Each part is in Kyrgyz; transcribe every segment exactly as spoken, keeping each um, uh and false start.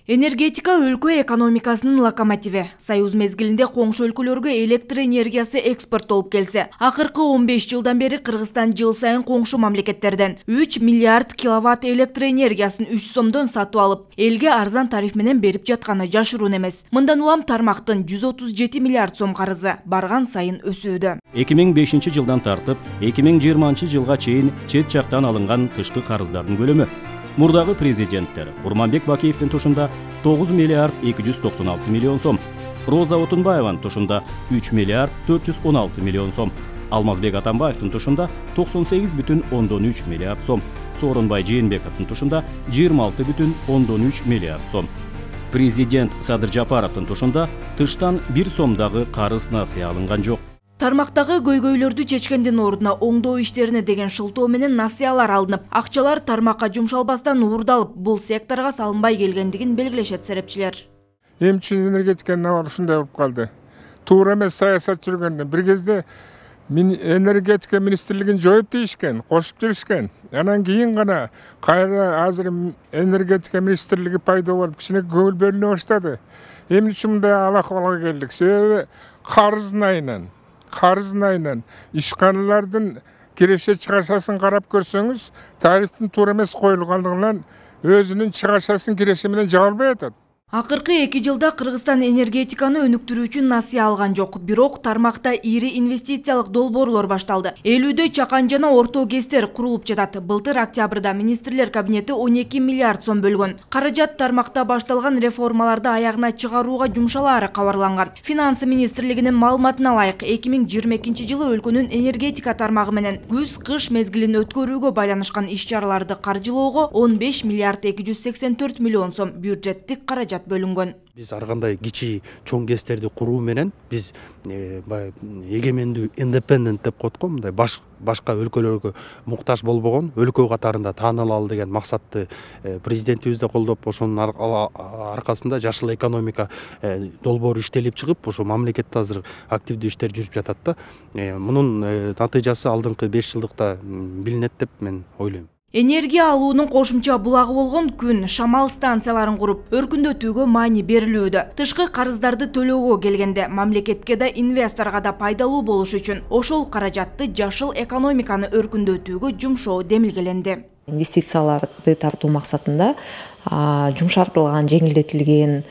Энергетика өлкө экономикасынын локомотиви. Союз мезгилинде коңшу өлкөлөргө электр энергиясы экспорттолуп келсе, акыркы он беш жылдан бери Кыргызстан жыл сайын коңшу мамлекеттерден үч миллиард киловатт электр энергиясын үч сомдон сатып алып, элге арзан тариф менен берип жатканы жашыруун эмес. Мындан улам тармактын жүз отуз жети миллиард сом карызы барган сайын өсүүдө. эки миң бешинчи жылдан тартып эки миң жыйырманчы жылга чейин чет жактан алынган тышкы карыздардын көлөмү мурдагы президенттер Курманбек Бакиевдин тушунда тогуз миллиард эки жүз токсон алты миллион сом, Роза Отунбаеванын тушунда үч миллиард төрт жүз он алты миллион сом, Алмазбек Атамбаевдин тушунда токсон сегиз бүтүн ондон үч миллиард сом, Сооронбай Жээнбековдун тушунда жыйырма алты бүтүн ондон үч миллиард сом. Президент Садыр Жапаровдун тушунда тыштан бир сомдагы карыз насыя алынган жок. Тармактагы көйгөйлөрдү чечкендин ордуна оңдоо иштерине деген шылтоо менен насыялар алынып, акчалар тармакка жумшалбастан уурдалып, бул секторго салынбай келгендигин белгилешет серепчилер. Эмчи энергетиканын абалы ушундай болуп калды. Туура эмес саясат жүргөндө бир кезде энергетика министрлигин жоюп дейишкен, кошуп жиберишкен. Анан кийин гана кайра азыр энергетика министрлиги пайда болуп, кичине көңүл бөлүнө баштады. Эмне үчүн мындай алакабалга келдик? Себеби карыздын айынан Карыздын айынан ишканалардын киреше чыгашасын карап көрсөңүз, тарифтин туура эмес коюлгандыгынан өзүнүн чыгашасын киреше менен жабылбай атат. Акыркы эки жылда Кыргызстан энергетиканы өнүктүрүүчү насыя алган жок. Бирок тармакта ири инвестициялык долбоорлор башталды. Элүүдө чакан жана орто ГЭСтер курулуп жатат. Былтыр октябрда министрлер кабинети он эки миллиард сом бөлгөн. Каражат тармакта башталган реформаларды аягына чыгарууга жумшалаары кабарланган. Финансы министрлигинин маалыматына ылайык, эки миң жыйырма экинчи жылы өлкөнүн энергетика тармагы менен күз-кыш мезгилин өткөрүүгө байланышкан иш-чараларды каржылоого он беш миллиард эки жүз сексен төрт миллион сом бюджеттик каражат бөлүнгөн. Биз ар кандай кичи чоң ГЭСтерди куруу менен биз эгемендүү independent деп коет го, мындай баш башка өлкөлөргө муктаж болбогон өлкө катарында таанылалы деген максатты президентибиз да колдоп, ошонун аркасында жашыл экономика долбоору иштелип чыгып, ошо мамлекетте азыр активдүү иштер жүрүп жатат да. Мунун натыйжасы алдыңкы беш жылдыкта билинет деп мен ойлойм. Энергия алуунун кошумча булагы болгон күн шамал станцияларын куруп, өркүндөтүүгө маани берилүүдө. Тышкы карыздарды төлөөгө келгенде мамлекетке да инвесторго да пайдалуу болуш үчүн ошол каражатты жашыл экономиканы өркүндөтүүгө жумшоо демилгеленди. Инвестицияларды тартуу максатында жумшартылган, жеңилдетилген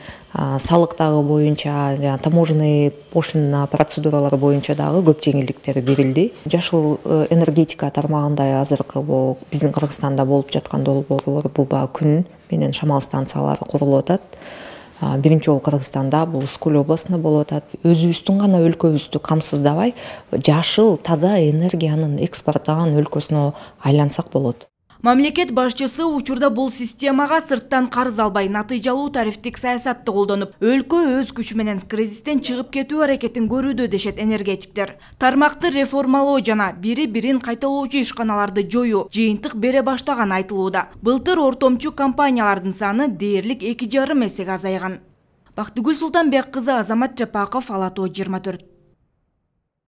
салык дагы боюнча, жана таможенный пошлина процедуралары боюнча дагы көп жеңилдиктер берилди. Жашыл энергетика тармагында азыркы биздин Кыргызстанда болуп жаткан долбоорлор бул баягы күн менен шамал станциялары курулуп атат. Биринчи жолу Кыргызстанда бул Скөл областында болуп атат. Өзүбүздүн гана өлкөбүздү камсыздабай, жашыл таза энергиянын экспорттогон өлкөсүнө айлансак болот. Мамлекет башчысы учурда бул системага сырттан карыз албай, натыйжалуу тарифтик саясатты колдонуп, өлкө өз күчү менен кризистен чыгып кетүү аракетин көрүүдө дешет энергетиктер. Тармакты реформалоо жана бири-бирин кайталоочу ишканаларды жоюу жыйынтык бере баштаган айтылууда. Былтыр ортомчу компаниялардын саны дээрлик эки жарым эсеге азайган. Бактыгүл Султанбек кызы, Азамат Жапаков, Ала Тоо жыйырма төрт.